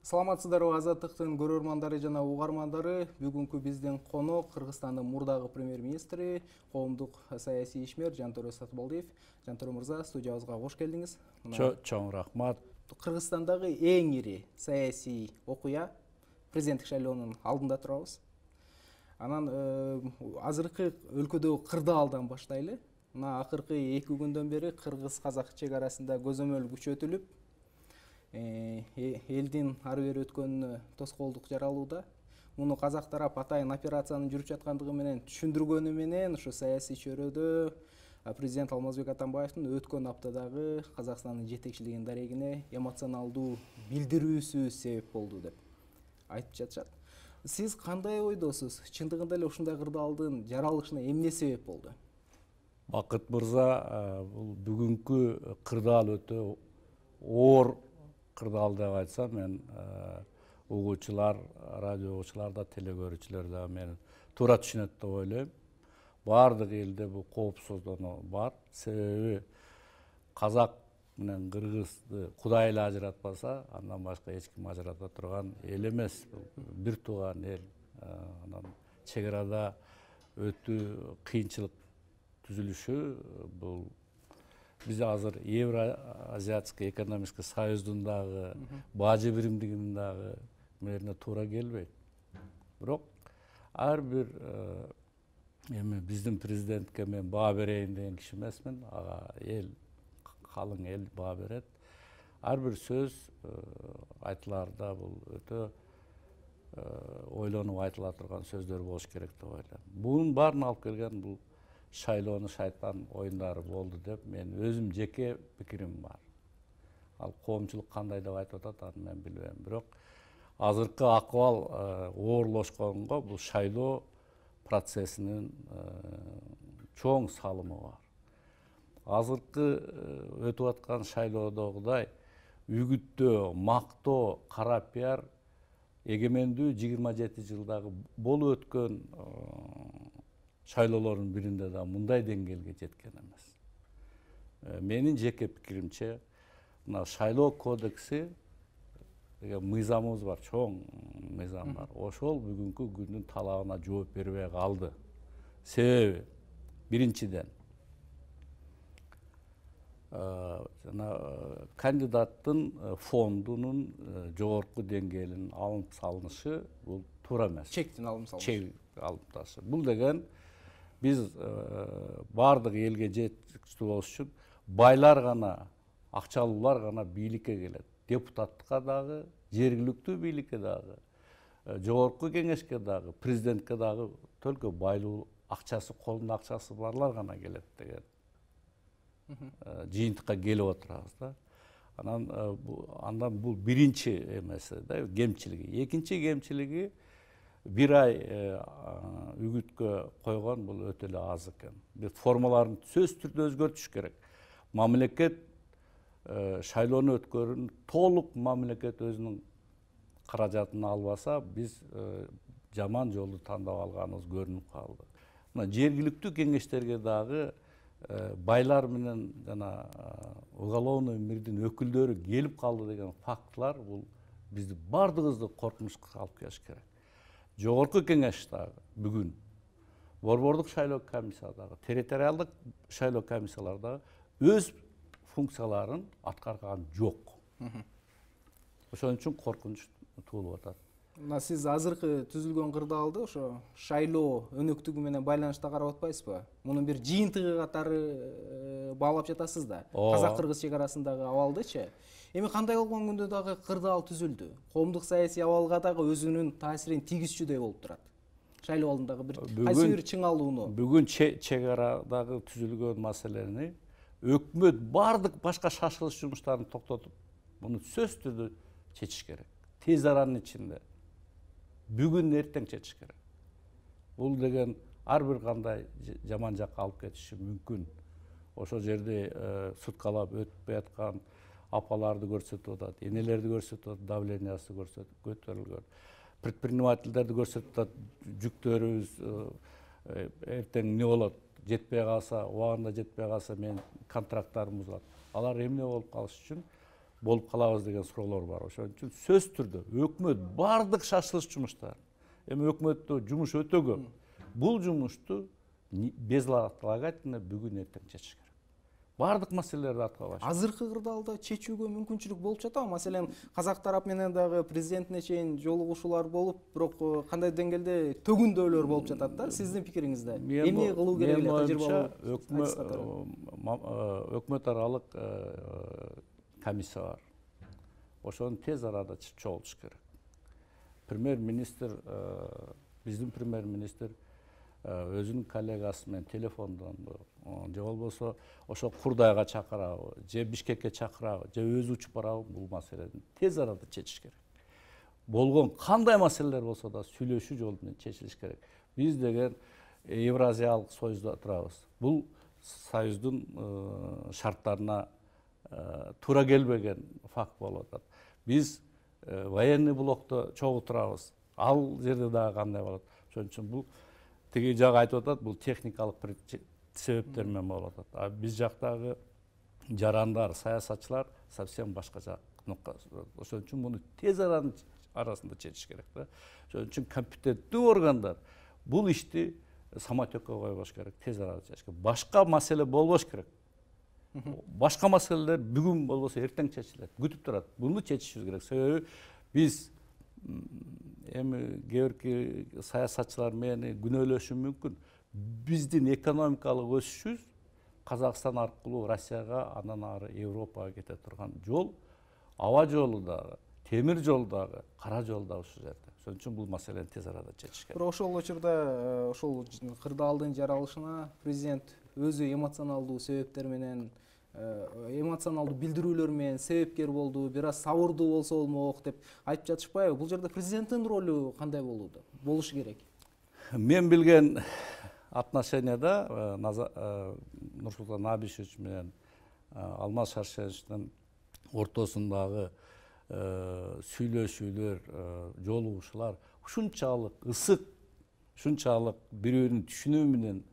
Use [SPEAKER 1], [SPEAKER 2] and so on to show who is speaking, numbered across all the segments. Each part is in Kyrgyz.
[SPEAKER 1] Саламатсыздарбы Азаттыктын көрөрмандары жана угармандары. Бүгүнкү биздин конок Кыргызстандын мурдагы премьер-министри, коомдук саясий ишмер Жантөрө Сатыбалдиев. Жантөрө мырза, студиябызга кош келдиңиз.
[SPEAKER 2] Чоң рахмат.
[SPEAKER 1] Кыргызстандагы эң ири саясий окуя президенттик шайлоонун алдында турабыз. Анан азыркы өлкөдөгү кырдаалдан баштайлы. Мына акыркы 2 күндөн бери кыргыз-казак чек арасында көзөмөл күчөтүлүп, элдин ары бери өткөнүнө тоскоолдук жаралууда. Муну казак тарап атайын операциянын жүрүп жаткандыгы менен түшүндүргөнү менен ушу саясий чөйрөдө президент Алмазбек Атамбаевдин өткөн аптадагы Казакстандын жетекчилигинин дарегине эмоционалдуу билдирүүсү себеп болду деп айтып жатышат. Сиз кандай ойдосуз? Чындыгында эле ушундай кырдаалдын жаралышына эмне себеп болду?
[SPEAKER 2] Бакыт мырза, бул бүгүнкү кырдаал өтө оор кырдаал деп айтсам, мен угуучулар, радио угуучулар да, телекөрүүчүлөр да мени туура түшүнөт деп ойлойм. Баардык элде бул коопсуздоо бар. Себеби казак менен кыргызды Кудай эле ажыратпаса, андан башка эч ким ажырата турган эл эмес. Бир тууган эл. Анан чек арада өтүү кыйынчылык түзүлүшү бул биз азыр Евразиатский экономический союздун дагы бажы биримдигинин дагы мээрине туура келбейт. Бирок ар бир эми биздин президентке мен баа берейин деген киши эмесмин. Ага эл, калың эл баа берет. Ар бир сөз айтылаарда бул өтө ойлонуп айтыла турган сөздөр болуш керек деп ойлойм. Бунун баарын алып келген бул шайлоону шайтан оюндары болду деп мен өзүм жеке пикирим бар. Ал коомчулук кандай деп айтып атат, аны мен билбейм. Бирок азыркы акыбал оорлошконго бул шайлоо процессинин чоң салымы бар. Азыркы өтүп аткан шайлоодогудай үгүттөө, мактоо, кара пиар эгемендүү 27 жылдагы болуп өткөн шайлоолордун биринде да мындай деңгээлге жеткен эмес. Менин жеке пикиримче, мына шайлоо кодекси деген мыйзамыбыз бар, чоң мыйзам бар. Ошол бүгүнкү күндүн талабына жооп бербей калды. Себеби биринчиден жана кандидаттын фондунун жогорку деңгээлинин алынып салынышы бул туура эмес.
[SPEAKER 1] Чектин алынып салынышы.
[SPEAKER 2] Чек алып ташы. Бул деген биз баардык элге жеткичүү болуш үчүн байлар гана, акчалуулар гана бийликке келет. Депутаттыкка дагы, жергиликтүү бийликке дагы, жогорку кеңешке дагы, президентке дагы только байлуу акчасы, колунда акчасы барлар гана келет деген жыйынтыкка келип отурабыз да. Андан бул биринчи эмеси да, кемчилиги. Экинчи кемчилиги бир ай үгүткө койгон бул өтө эле аз экен. Бир формаларын сөзсүз түрдө өзгөртүш керек. Мамлекет шайлоону өткөрүүнү толук мамлекет өзүнүн каражатын албаса, биз жаман жолду тандап алганыбыз көрүнүп калды. Мына жергиликтүү кеңештерге дагы байлар менен жана уголовный мирдин өкүлдөрү келип калды деген фактылар бул бизди бардыгыбызды коркунучка алып келиш керек. Жогорку кеңеш дагы бүгүн борбордук шайлоо комиссиясы дагы, территориалдык шайлоо комиссиялары дагы өз функцияларын аткарган жок. Ошон үчүн коркунуч туулуп атат.
[SPEAKER 1] Мына сиз азыркы түзүлгөн кырдаалды ошо шайлоо өнөктүгү менен байланышта карап атпайсызбы? Мунун бир жыйынтыгы катары баалап жатасыз да. Казак-кыргыз чек арасындагы абалдычы. Эми кандай болгон күндө дагы кырдаал түзүлдү. Коомдук саясий абалга дагы өзүнүн таасирин тийгизчүдөй болуп турат. Шайлоо алдындагы бир кайсы бир чыңалууну.
[SPEAKER 2] Бүгүн чек арадагы түзүлгөн маселени өкмөт баардык башка шашылыш жумуштарын токтотуп, муну сөзсүз түрдө чечиш керек. Тез аранын ичинде. Бүгүн эртең чечиш керек. Бул деген ар бир кандай жаман жакка алып кетиши мүмкүн. Ошол жерде суткалап өтпөй аткан апаларды көрсөтүп атат, энелерди көрсөтүп атат, давлениясы көтөрүлгөн. Предпринимательдерди көрсөтүп атат, жүктөрүбүз эртең эмне болот? Жетпей калса, убагында жетпей калса мен контракттарым бузулат. Алар эмне болуп калыш үчүн болуп калабыз деген суроолор бар. Ошон үчүн сөзсүз түрдө өкмөт бардык шашылыш жумуштар. Эми өкмөттө жумуш өтө көп. Бул жумушту безотлагательно бүгүн эртең чечиш керек. Бардык маселелерди аткарбаш.
[SPEAKER 1] Азыркы кырдаалда чечүүгө мүмкүнчүлүк болуп жатабы? Маселен, казак тарап менен дагы президентине чейин жолугушуулар болуп, бирок кандай деңгээлде төгүндөөлөр болуп жатат да? Сиздин пикириңизде эмне кылуу керек эле тажрыйбалуу?
[SPEAKER 2] Өкмөт аралык комиссия бар. Ошону тез арада чогултуш керек. Премьер-министр, биздин премьер-министр өзүнүн коллегасы менен телефондон же болбосо ошо Курдайга чакырабы, же Бишкекке чакырабы, же өзү учуп барабы, бул маселени тез арада чечиш керек. Болгон кандай маселелер болсо да сүйлөшүү жолу менен чечилиш керек. Биз деген Евразиялык союзда турабыз. Бул союздун шарттарына туура келбеген факт болуп атат. Биз военный блокто чогуу турабыз. Ал жерде дагы кандай болот? Ошон үчүн бул тиги жагы айтып атат, бул техникалык себептер менен болуп атат. А биз жактагы жарандар, саясатчылар совсем башкача нукта. Ошон үчүн муну тез арасында чечиш керек да. Ошон үчүн компетенттүү органдар бул ишти самотекке койбош керек, тез арада чечиш керек. Башка маселе болбош керек. Башка маселелер бүгүн болбосо эртең чечилет, күтүп турат. Буну чечишибиз керек. Себеби биз эми кээ бирки саясатчылар мени күнөөлөшүшү мүмкүн. Биздин экономикалык өсүшүбүз Казакстан аркылуу Россияга, андан ары Европага кете турган жол, аба жолу дагы, темир жол дагы, кара жол дагы ушул жерде. Ошон үчүн бул маселени тез арада чечиш керек.
[SPEAKER 1] Бирок ошол учурда ошол кырдаалдын жаралышына президент өзү эмоционалдуу себептер менен, эмоционалдуу билдирүүлөр менен себепкер болду, бир аз сабырдуу болсо болмок деп айтып жатышпайбы? Бул жерде президенттин ролу кандай болушу керек?
[SPEAKER 2] Мен билген отношенияда Нурсултан Абишевич менен Алмаз Шаршеновичтин ортосундагы сүйлөшүүлөр, жолугушуулар ушунчалык ысык, ушунчалык бирөөнүн түшүнүү менен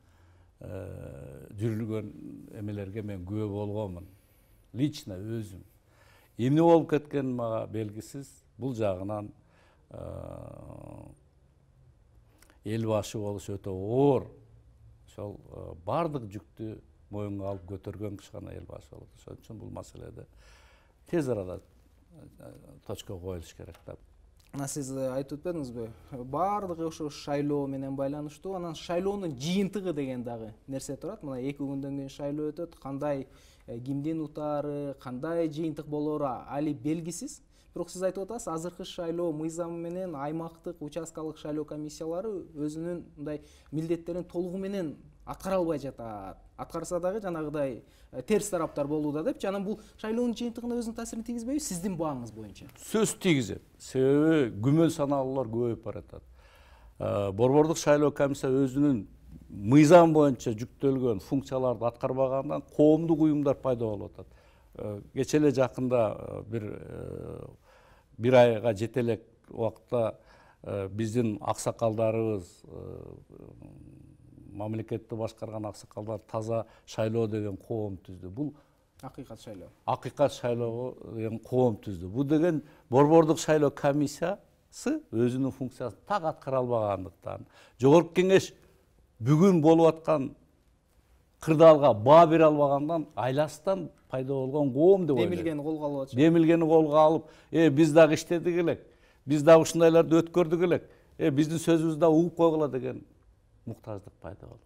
[SPEAKER 2] жүрүлгөн эмелерге мен күбө болгонмун. Лично өзүм. Эмне болуп кеткени мага белгисиз. Бул жагынан эл башы болуш өтө оор. Ошол бардык жүктү моюнга алып көтөргөн киши гана эл башы болот. Ошон үчүн бул маселеде тез арада точка коюлуш керек да.
[SPEAKER 1] Сиз айтып өтпөдүңүзбү? Бардыгы ошо шайлоо менен байланыштуу. Анан шайлоонун жыйынтыгы деген дагы нерсе турат. Мына 2 күндөн кийин шайлоо өтөт. Кандай кимдин утаары, кандай жыйынтык болоору али белгисиз. Бирок сиз айтып атасыз, азыркы шайлоо мыйзамы менен аймактык, участкалык шайлоо комиссиялары өзүнүн мындай милдеттерин толугу менен аткара албай жатат. Аткарса дагы жанагыдай терс тараптар болууда деп, жана бул шайлоонун жыйынтыгына өзүнүн таасирин тийгизбейби сиздин бааңыз боюнча?
[SPEAKER 2] Сөз тийгизет. Себеби күмөн саналуулар көбөйүп баратат. Борбордук шайлоо комиссия өзүнүн мыйзам боюнча жүктөлгөн функцияларды аткарбагандан коомдук уюмдар пайда болуп атат. Кечээ эле жакында бир айга жете элек убакытта биздин аксакалдарыбыз, мамлекетти башкарган аксакалдар таза шайлоо деген коом түздү. Бул
[SPEAKER 1] Акыйкат шайлоо.
[SPEAKER 2] Акыйкат шайлоо деген коом түздү. Бул деген борбордук шайлоо комиссиясы өзүнүн функциясын так аткара албагандыктан, жогорку кеңеш бүгүн болуп аткан кырдаалга баа бере албагандан айласынан пайда болгон коом деп ойлойм.
[SPEAKER 1] Демилгени колго алып атышат.
[SPEAKER 2] Демилгени колго алып, биз дагы иштедик элек, биз дагы ушундайларды өткөрдүк элек, биздин сөзүбүздү дагы угуп койгула деген муктаждык пайда болот.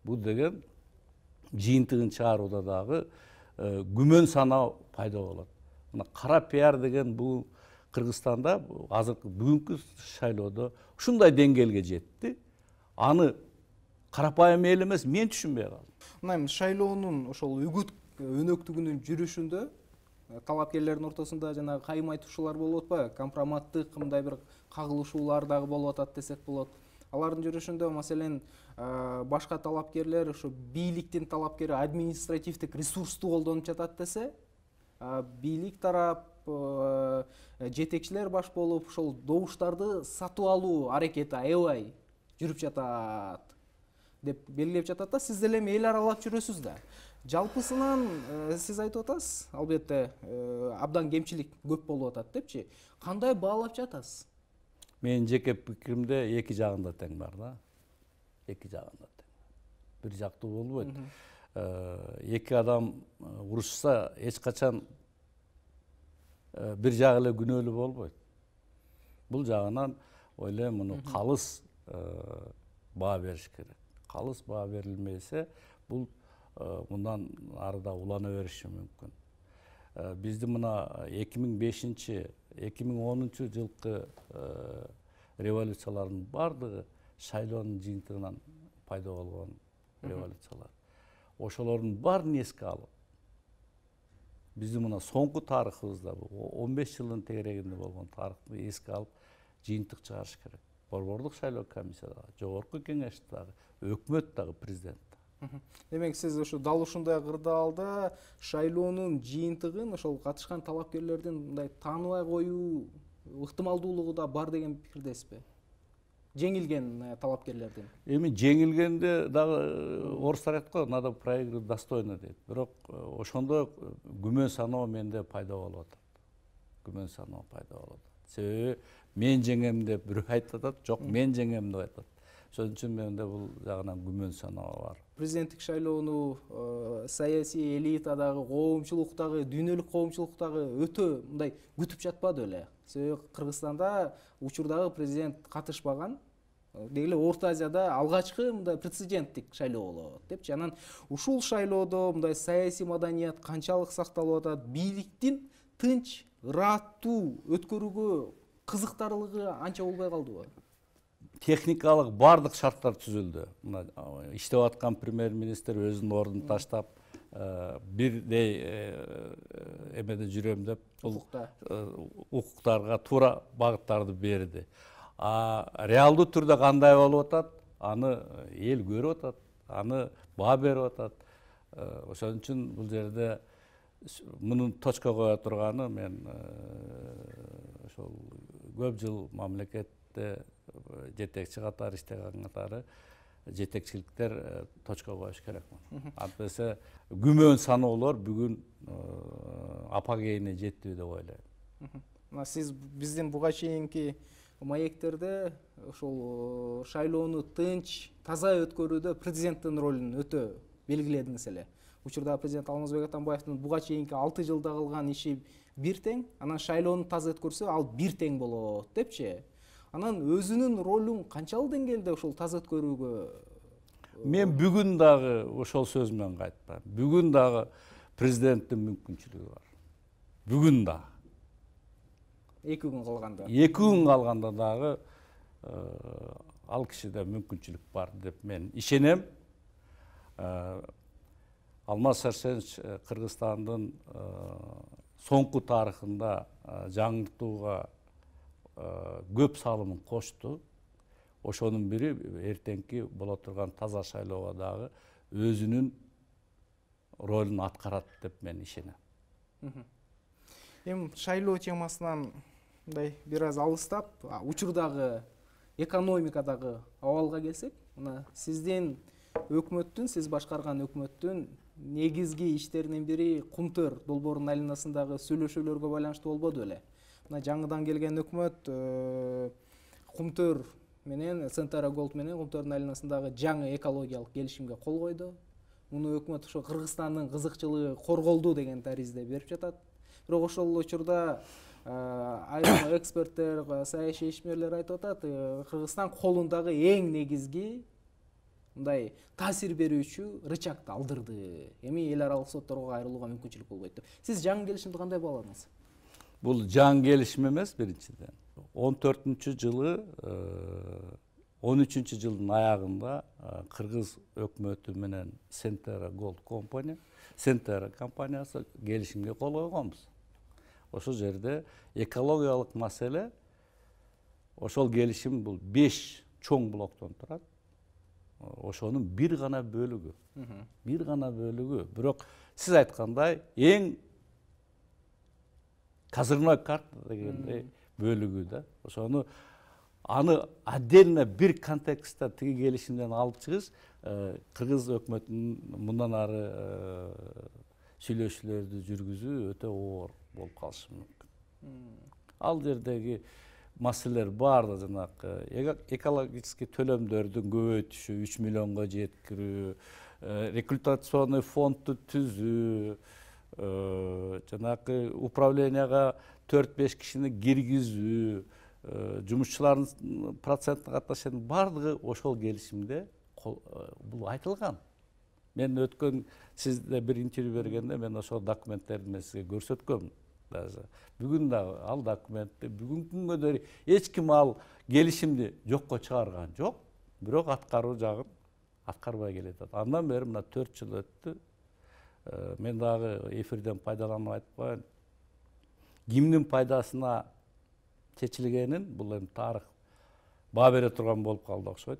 [SPEAKER 2] Бул деген жыйынтыгын чыгарууда дагы күмөн саноо пайда болот. Мына кара пиар деген бул Кыргызстанда азыркы бүгүнкү шайлоодо ушундай деңгээлге жетти. Аны карапайым эл эмес, мен түшүнбөй калдым.
[SPEAKER 1] Мына шайлоонун ошол үгүт өнөктүгүнүн жүрүшүндө талапкерлердин ортосунда жанагы кайым айтышуулар болуп атпайбы? Компроматтык мындай бир кагылышуулар дагы болуп атат десек болот. Алардын жүрүшүндө маселен башка талапкерлер ошо бийликтин талапкери административдик ресурсту колдонуп жатат десе, бийлик тарап жетекчилер баш болуп ошол добуштарды сатып алуу аракети аябай жүрүп жатат деп белгилеп жатат да. Сиз деле эми эл аралап жүрөсүз да. Жалпысынан сиз айтып атасыз, албетте абдан кемчилик көп болуп атат депчи. Кандай баалап жатасыз?
[SPEAKER 2] Менин жеке пикиримде эки жагында тең бар да. Эки жагында тең. Бир жактуу болбойт. Эки адам урушса эч качан бир жагы эле күнөөлүү болбойт. Бул жагынан ойлойм муну калыс баа бериш керек. Калыс баа берилмесе бул мындан арыда улана бериши мүмкүн. Бизди мына 2005-2010 жылкы революциялардын бардыгы шайлоонун жыйынтыгынан пайда болгон революциялар. Ошолордун баарын эске алып, биздин мына соңку тарыхыбызда 15 жылдын тегерегинде болгон тарыхты эске алып жыйынтык чыгарыш керек. Борбордук шайлоо комиссияда, жогорку кеңеште дагы, өкмөт дагы, президент.
[SPEAKER 1] Демек сиз ушу дал ушундай кырдаалда шайлоонун жыйынтыгын ошол катышкан талапкерлердин мындай тааныбай коюу ыктымалдуулугу да бар деген пикирдесизби? Жеңилген талапкерлердин.
[SPEAKER 2] Эми жеңилгенде дагы орустар айтат го, надо проигрывать достойно дейт. Бирок ошондо күмөн саноо менде пайда болуп атат. Күмөн саноо пайда болуп атат. Себеби мен жеңем деп бирөө айтып атат, жок мен жеңем деп айтат. Ошон үчүн менде бул жагынан күмөн саноо бар.
[SPEAKER 1] Президенттик шайлоону саясий элитадагы, коомчулуктагы, дүйнөлүк коомчулуктагы өтө мындай күтүп жатпады эле. Себеби Кыргызстанда учурдагы президент катышпаган. Деги эле Орто Азияда алгачкы мындай прецеденттик шайлоо болот депчи. Анан ушул шайлоодо мындай саясий маданият канчалык сакталып атат, бийликтин тынч, ыраттуу өткөрүүгө кызыктарлыгы анча болбой калдыбы?
[SPEAKER 2] Техникалык бардык шарттар түзүлдү. Мына иштеп аткан премьер-министр өзүнүн ордун таштап, бирдей эмеде жүрөм деп укуктарга туура багыттарды берди. Реалдуу түрдө кандай болуп атат, аны эл көрүп атат, аны баа берип атат. Ошон үчүн бул жерде мунун точка кое турганы мен ошол көп жыл мамлекетте жетекчи катары иштеген катары жетекчиликтер точка коюш керек. Антпесе күмөн саноолор бүгүн апогейине жетти деп ойлойм.
[SPEAKER 1] Сиз биздин буга чейинки маектерде ошол шайлоону тынч, таза өткөрүүдө президенттин ролун өтө белгиледиңиз эле. Учурда президент Алмазбек Атамбаевдин буга чейинки 6 жылда кылган иши бир тең, анан шайлоону таза өткөрсө ал бир тең болот депчи. Анан өзүнүн ролун канчалык деңгээлде ошол таза өткөрүүгө?
[SPEAKER 2] Мен бүгүн дагы ошол сөз менен кайтпайм. Бүгүн дагы президенттин мүмкүнчүлүгү бар. Бүгүн дагы.
[SPEAKER 1] 2 күн калганда.
[SPEAKER 2] 2 күн калганда дагы ал кишиде мүмкүнчүлүк бар деп мен ишенем. Алмаз Шаршенович Кыргызстандын соңку тарыхында жаңыртууга көп салымын кошту. Ошонун бири эртеңки боло турган таза шайлоого дагы өзүнүн ролун аткарат деп мен ишенем.
[SPEAKER 1] Эми шайлоо темасынан мындай бир аз алыстап, учурдагы экономикадагы абалга келсек, мына сиздин өкмөттүн, сиз башкарган өкмөттүн негизги иштеринин бири Кумтөр долбоорунун айланасындагы сүйлөшүүлөргө байланыштуу болбоду беле? Мына жаңыдан келген өкмөт Кумтөр менен Центара Голд менен Кумтөрдүн айланасындагы жаңы экологиялык келишимге кол койду. Муну өкмөт ошо Кыргызстандын кызыкчылыгы корголду деген таризде берип жатат. Бирок ошол учурда айрым эксперттер, саясий ишмерлер айтып атат, Кыргызстан колундагы эң негизги мындай таасир берүүчү рычагды алдырды. Эми эл аралык сотторго кайрылууга мүмкүнчүлүк болбойт деп. Сиз жаңы келишимди кандай бааладыңыз?
[SPEAKER 2] Бул жаңы келишим эмес биринчиден. 14-жылы 13-жылдын аягында Кыргыз өкмөтү менен Центара Голд компания, Центара компаниясы келишимге кол койгонбуз. Ошол жерде экологиялык маселе, ошол келишим бул 5 чоң блоктон турат. Ошонун бир гана бөлүгү. Бир гана бөлүгү. Бирок сиз айткандай эң козырной карта дегендей бөлүгү да. Ошону аны отдельно бир контекстте тиги келишимден алып чыгыш кыргыз өкмөтүнүн мындан ары сүйлөшүүлөрдү жүргүзүү өтө оор болуп калышы мүмкүн. Ал жердеги маселелер баардыгы жанагы экологический төлөмдөрдүн көбөйтүшү, 3 миллионго жеткирүү, рекультационный фондду түзүү, жанагы управленияга 4-5 кишини киргизүү, жумушчулардын процентине катнашатын баардыгы ошол келишимде бул айтылган. Мен өткөн сизде бир интервью бергенде мен ошол документтерди мен сизге көрсөткөм. Даже бүгүн дагы ал документти бүгүнкү күнгө дейин эч ким ал келишимди жокко чыгарган жок, бирок аткаруу жагын аткарбай келатат. Андан бери мына 4 жыл өттү. Мен дагы эфирден пайдаланып айтып коеюн. Кимдин пайдасына чечилгенин бул эми тарых баа бере турган болуп калды окшойт.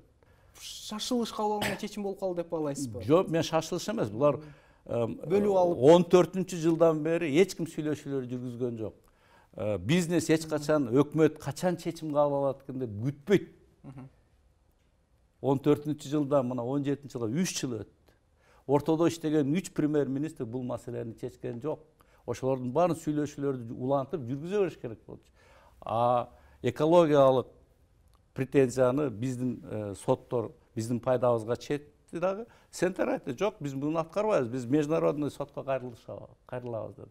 [SPEAKER 1] Шашылыш кабыл алынган чечим болуп калды деп алайсызбы?
[SPEAKER 2] Жок, мен шашылыш эмес. Булар
[SPEAKER 1] бөлүп алып
[SPEAKER 2] 14-жылдан бери эч ким сүйлөшүүлөр жүргүзгөн жок. Бизнес эч качан өкмөт качан чечим кабыл алат экен деп күтпөйт. 14-жылдан мына 17-жылга 3 жыл өттү. Ортодо иштеген 3 премьер-министр бул маселени чечкен жок. Ошолордун баарын сүйлөшүүлөрдү улантып жүргүзө бериш керек болчу. Экологиялык претензияны биздин соттор биздин пайдабызга чечти дагы. Сентер айтты, жок, биз муну аткарбайбыз, биз международный сотко кайрылабыз деди.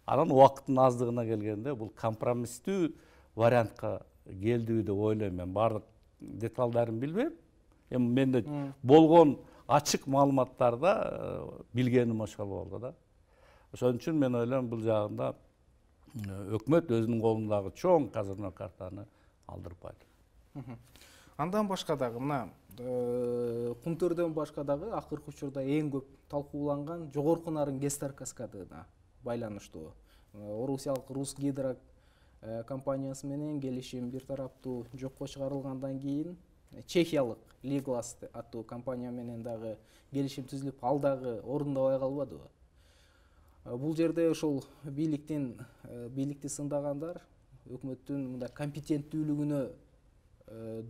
[SPEAKER 2] Анан убакыттын аздыгына келгенде бул компромисстүү вариантка келдиби деп ойлойм. Мен баардык деталдарын билбейм. Эми менде болгон ачык маалыматтарда билгеним ошол болду да. Ошон үчүн мен ойлойм бул жагында өкмөт өзүнүн колундагы чоң казырма картаны алдырып койду.
[SPEAKER 1] Андан башка дагы мына Кумтөрдөн башка дагы акыркы учурда эң көп талкууланган жогорку нарын ГЭС каскадына байланыштуу. Орусиялык Русгидро компаниясы менен келишим бир тараптуу жокко чыгарылгандан кийин чехиялык Liglas аттуу компания менен дагы келишим түзүлүп, ал дагы орундабай калбадыбы? Бул жерде ошол бийликти сындагандар өкмөттүн мындай компетенттүүлүгүнө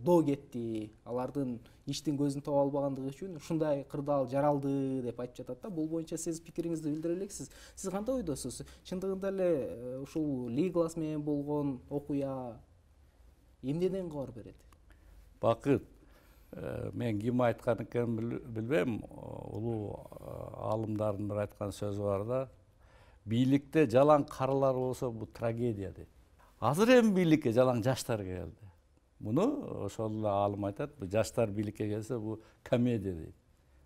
[SPEAKER 1] доо кетти, алардын иштин көзүн таба албагандыгы үчүн ушундай кырдаал жаралды деп айтып жатат да. Бул боюнча сиз пикириңизди билдире элексиз. Сиз кандай ойдосуз? Чындыгында эле ушул Liglas менен болгон окуя эмнеден кабар берет?
[SPEAKER 2] Бакыт, мен ким айткан экенин билбейм. Улуу аалымдардын бир айткан сөзү бар да. Бийликте жалаң карылар болсо бул трагедия дейт. Азыр эми бийликке жалаң жаштар келди. Муну ошол эле аалым айтат, жаштар бийликке келсе бул комедия дейт.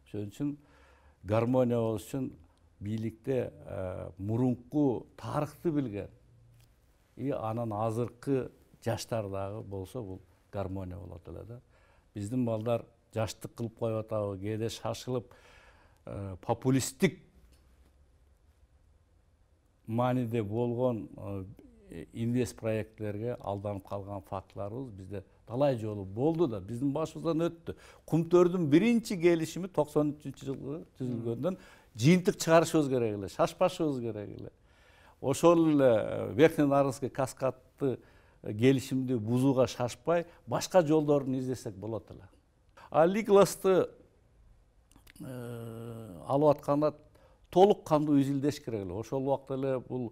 [SPEAKER 2] Ошон үчүн гармония болуш үчүн бийликте мурунку тарыхты билген анан азыркы жаштар дагы болсо бул гармония болот эле да. Биздин балдар жаштык кылып коюп атабы, кээде шашылып популисттик мааниде болгон инвест проекттерге алданып калган фактыларыбыз бизде талай жолу болду да, биздин башыбыздан өттү. Кумтөрдүн биринчи келишими 93-жылы түзүлгөндөн жыйынтык чыгарышыбыз керек эле, шашпашыбыз керек эле. Ошол эле Верхненарынский каскадты келишимди бузууга шашпай, башка жолдорун издесек болот эле. Liglas'ты алып атканда толук кандуу изилдеш керек эле. Ошол убакта эле бул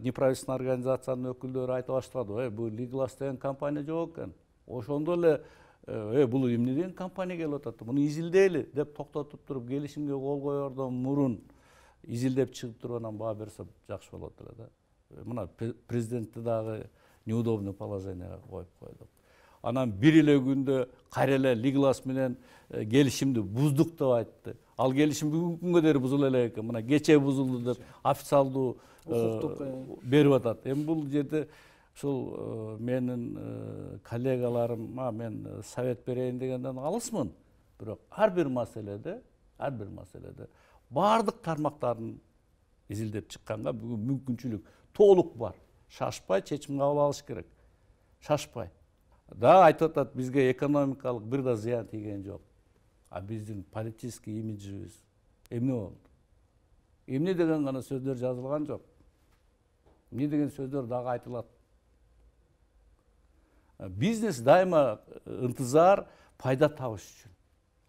[SPEAKER 2] неправительственный организациянын өкүлдөрү айтып баштады, бул Liglas деген компания жок экен. Ошондо эле бул эмне деген компания келип атат, муну изилдейли деп токтотуп туруп келишимге кол коердон мурун изилдеп чыгып туруп анан баа берсе жакшы болот эле да. Мына президентти дагы неудобный положенияга коюп койдук. Анан бир эле күндө кайра эле Liglas менен келишимди буздук деп айтты. Ал келишим бүгүнкү күнгө дейин бузула элек экен. Мына кечээ бузулду деп официалдуу берип атат. Эми бул жерде ушул менин коллегаларыма мен совет берейин дегенден алысмын. Бирок ар бир маселеде баардык тармактарын изилдеп чыкканга бүгүн мүмкүнчүлүк толук бар. Шашпай чечим кабыл алыш керек. Шашпай. Да айтып атат, бизге экономикалык бир да зыян тийген жок. А биздин политический имиджибиз эмне болду? Эмне деген гана сөздөр жазылган жок. Эмне деген сөздөр дагы айтылат. Бизнес дайыма ынтызар пайда табыш үчүн.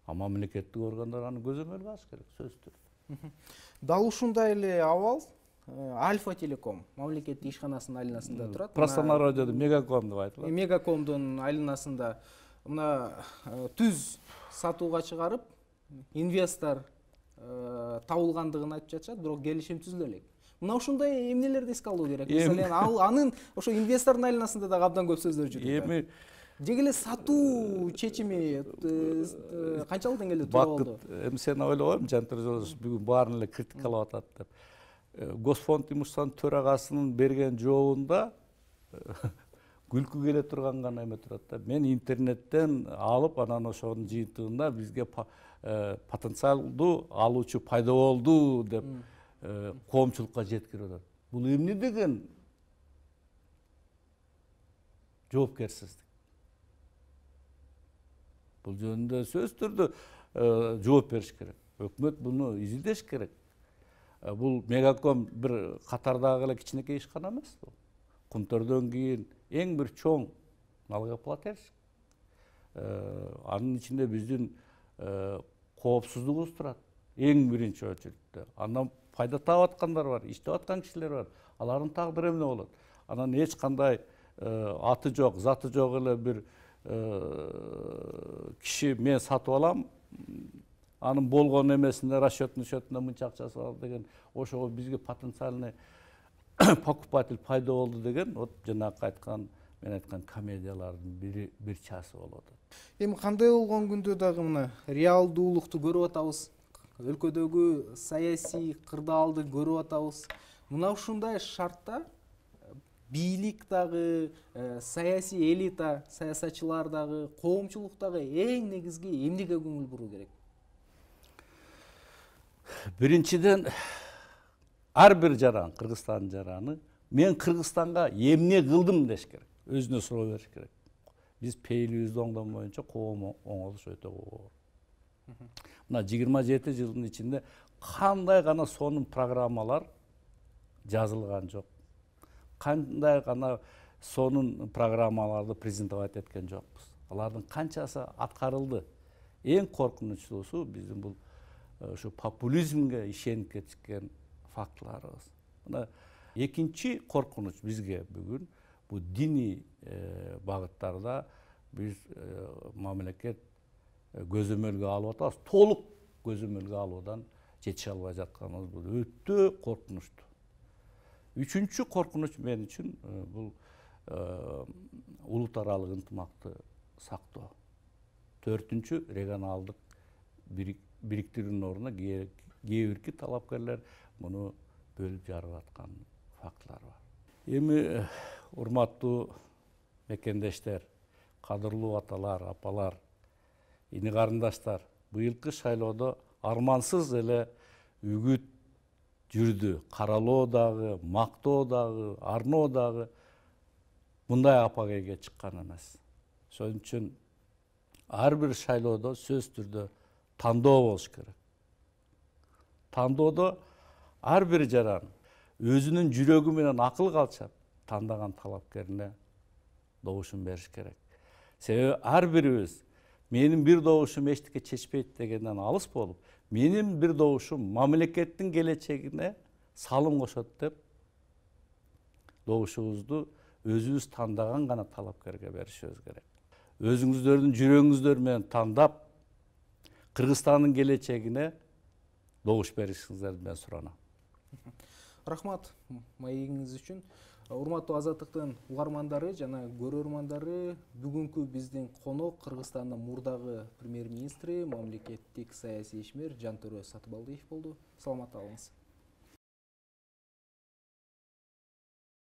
[SPEAKER 2] А мамлекеттик органдар аны көзөмөлгө алыш керек, сөзсүз түрдө.
[SPEAKER 1] Дал ушундай эле абал Альфа Телеком мамлекеттик ишканасынын айланасында турат.
[SPEAKER 2] Простонародьеде Мегаком деп айтылат.
[SPEAKER 1] Мегакомдун айланасында мына түз сатууга чыгарып, инвестор табылгандыгын айтып жатышат, бирок келишим түзүлө элек. Мына ушундай эмнелерди эске алуу керек. Мисалын анын ошо инвестордун айланасында да абдан көп сөздөр жүрүп. Деги эле сатуу чечими канчалык деңгээлде туура болду?
[SPEAKER 2] Эми сен ойлогойм, Жантөр Жолдошов бүгүн баарын эле критикалап атат деп. Госпонд имуществонун төрагасынын берген жообунда күлкү келе турган гана эме турат да. Мен интернеттен алып, анан ошонун жыйынтыгында бизге потенциалдуу алуучу пайда болду деп коомчулукка жеткирип атат. Бул эмне деген жоопкерсиздик? Бул жөнүндө сөзсүз түрдө жооп бериш керек. Өкмөт буну изилдеш керек. Бул Мегаком бир катардагы эле кичинекей ишкана эмес. Кумтөрдөн кийин эң бир чоң налогоплательщик. Анын ичинде биздин коопсуздугубуз турат. Эң биринчи очередде. Андан пайда таап аткандар бар, иштеп аткан кишилер бар. Алардын тагдыры эмне болот? Анан эч кандай аты жок, заты жок эле бир киши мен сатып алам, анын болгон эмесинде расчетный счетунда мынча акчасы бар деген, ошого бизге потенциальный покупатель пайда болду деген, вот жанагы мен айткан комедиялардын бир часы болуп атат.
[SPEAKER 1] Эми кандай болгон күндө дагы мына реалдуулукту көрүп атабыз. Өлкөдөгү саясий кырдаалды көрүп атабыз. Мына ушундай шартта бийлик дагы, саясий элита, саясатчылар дагы, коомчулук дагы эң негизги эмнеге көңүл буруу керек?
[SPEAKER 2] Биринчиден, ар бир жаран, Кыргызстандын жараны, мен Кыргызстанга эмне кылдым деш керек, өзүнө суроо бериш керек. Биз пейилибизди оңдон боюнча коом оңолуш өтө оор. Мына 27 жылдын ичинде кандай гана сонун программалар жазылган жок. Кандай гана сонун программаларды презентовать эткен жокпуз. Алардын канчасы аткарылды. Эң коркунучтуусу биздин бул ушу популизмге ишенип кетишкен фактыларыбыз. Мына экинчи коркунуч бизге бүгүн бул диний багыттарда биз мамлекет көзөмөлгө алып атабыз, толук көзөмөлгө алуудан жетише албай жатканыбыз бул өтө коркунучтуу. Үчүнчү коркунуч мен үчүн бул улут аралык ынтымакты сактоо. Төртүнчү регионалдык бириктирүүнүн ордуна кээ бирки талапкерлер муну бөлүп жарып аткан фактылар бар. Эми урматтуу мекендештер, кадырлуу аталар, апалар, ини карындаштар, быйылкы шайлоодо армансыз эле үгүт жүрдү. Каралоо дагы, мактоо дагы, арноо дагы мындай апагейге чыккан эмес. Ошон үчүн ар бир шайлоодо сөзсүз түрдө тандоо болуш керек. Тандоодо ар бир жаран өзүнүн жүрөгү менен акыл калчап тандаган талапкерине добушун бериш керек. Себеби ар бирибиз менин бир добушум эчтеке чечпейт дегенден алыс болуп, менин бир добушум мамлекеттин келечегине салым кошот деп добушубузду өзүбүз тандаган гана талапкерге беришибиз керек. Өзүңүздөрдүн жүрөгүңүздөр менен тандап, Кыргызстандын келечегине добуш беришиңиздерди мен суранам.
[SPEAKER 1] Рахмат маегиңиз үчүн. Урматтуу Азаттыктын угармандары жана көрөрмандары, бүгүнкү биздин конок Кыргызстандын мурдагы премьер-министри, мамлекеттик саясий ишмер Жантөрө Сатыбалдиев болду. Саламатта калыңыз.